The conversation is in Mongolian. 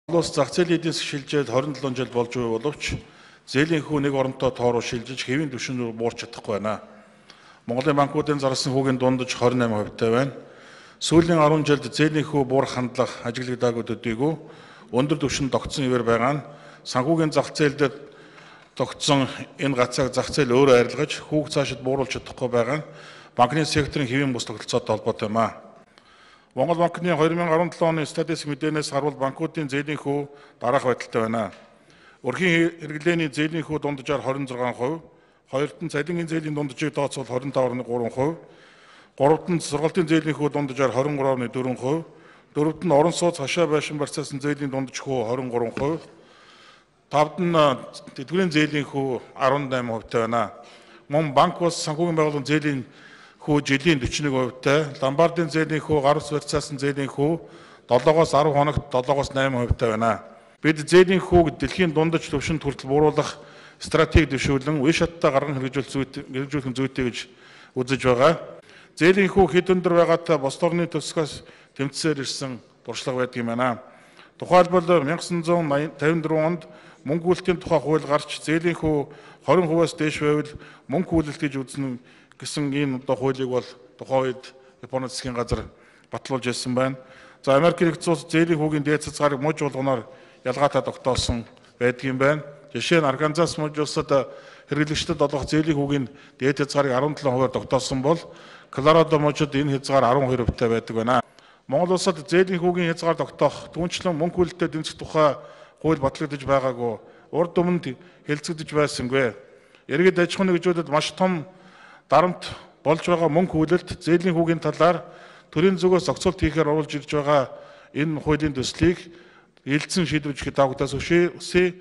Улс зах зээлийн эдийн засаг шилжээд 27 жил болж буй боловч зээлийн хүү нэг оронтой тоороо шилжиж хэвийн түвшин рүү буурч чадахгүй байна. Монголын банкуудын зарласан хүүгийн дундаж 28% байна. Сүүлийн 10 жилд зээлийн хүү буурах хандлага ажиглагдаагүй төдийгүй өндөр түвшинд тогтсон хэвээр байгаа нь санхүүгийн зах зээлд тогтсон энэ гацааг зах зээл өөрөө арилгаж хүүг цаашид бууруулж чадахгүй байгаа нь банкны секторын хэвийн бус тогтолцоотой холбоотой юм а. Монгол банкны 2017 оны статистик мэдээнээс харуул банкуудын зээлийн хүү дараах байдалтай байна. Өрхийн хэрэглээний зээлийн хүү дунджаар 26%, хоёрт нь цалингийн зээлийн дунджийг тооцвол 25.3%, гуравт нь сургалтын зээлийн хүү дунджаар 23.4%, дөрөвт нь орон сууц хашаа байшин барьцаасан зээлийн дундаж хүү 23%, тавд нь тэтгэврийн зээлийн хүү 18% байна. Мөн банк бас санхүүгийн байгууллагын зээлийн хүү жилийн 41%, ломбардын зээлийн хүү гарус барьцаасан зээлийн хүү 7-оос 10 хоногт 7-оос 8% байна. Бид зээлийн хүүг дэлхийн дундаж түвшинд хүртэл бууруулах стратеги дэвшүүлэн үе шаттай гарган хэрэгжүүлэх зүйтэй гэж үзэж байгаа. Зээлийн хүү хэд өндөр байгаатай бос орны төсгөөс тэмцсээр ирсэн туршлага байдаг юм байна. Тухайлбал 1954 онд мөнгө үйлдлийн тухай хууль гарч зээлийн хүү 20%-аас дээш байвал мөнгө үйлдэл гэж үзнэ гэсэн ийм хуулийг бол тухайн үед Японы засгийн газар батлуулж ирсэн байна. За Америк нэгдсэн улс зээлийн хүүгийн дээд хязгаарыг мужи болгоноор ялгаатай тогтоосон байдаг юм байна. Жишээ нь Арканзас мужи улсад хэрэглэгчдэд олгох зээлийн хүүгийн дээд хязгаарыг 17%-аар тогтоосон бол Колорадо мужид энэ хязгаар 12%-тай байдаг байна. Монгол улсад зээлийн хүүгийн хязгаар тогтоох түүнчлэн мөнгө үйлдэлтэй дэмжих тухай хууль батлагдаж байгаагүй. Урд өмнөд хэлцэгдэж байсангүй. Иргэд аж ахуйн нэгжүүдэд маш том дарамт болж байгаа мөнгө хүлээлт зээлийн хүүгийн талаар төрийн зүгээс зохицуулт хийхээр оруулж ирж байгаа энэ хуулийн төслийг эелдсэн шийдвэржих тавгтаас өшөөсэй.